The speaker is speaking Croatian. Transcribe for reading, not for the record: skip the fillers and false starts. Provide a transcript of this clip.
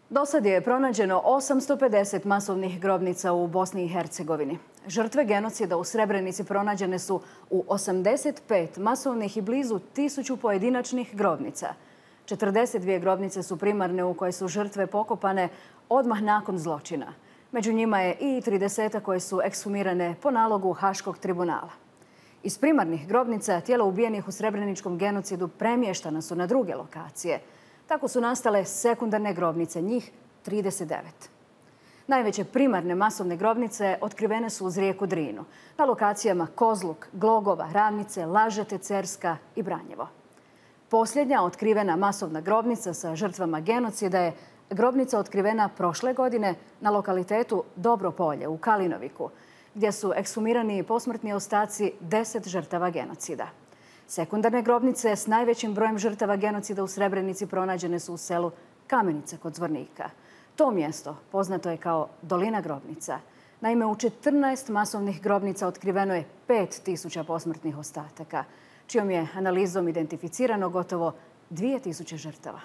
Do sad je pronađeno 850 masovnih grobnica u Bosni i Hercegovini. Žrtve genocida u Srebrenici pronađene su u 85 masovnih i blizu 1000 pojedinačnih grobnica. 42 grobnice su primarne u koje su žrtve pokopane odmah nakon zločina. Među njima je i 30 koje su ekshumirane po nalogu Haškog tribunala. Iz primarnih grobnica tijela ubijenih u srebreničkom genocidu premještana su na druge lokacije. Tako su nastale sekundarne grobnice, njih 39. Najveće primarne masovne grobnice otkrivene su uz rijeku Drinu, na lokacijama Kozluk, Glogova, Ravnice, Lažete, Cerska i Branjevo. Posljednja otkrivena masovna grobnica sa žrtvama genocida je grobnica otkrivena prošle godine na lokalitetu Dobro polje u Kalinoviku, gdje su ekshumirani posmrtni ostaci 10 žrtava genocida. Sekundarne grobnice s najvećim brojem žrtava genocida u Srebrenici pronađene su u selu Kamenice kod Zvornika. To mjesto poznato je kao Dolina grobnica. Naime, u 14 masovnih grobnica otkriveno je 5000 posmrtnih ostataka, čijom je analizom identificirano gotovo 2000 žrtava.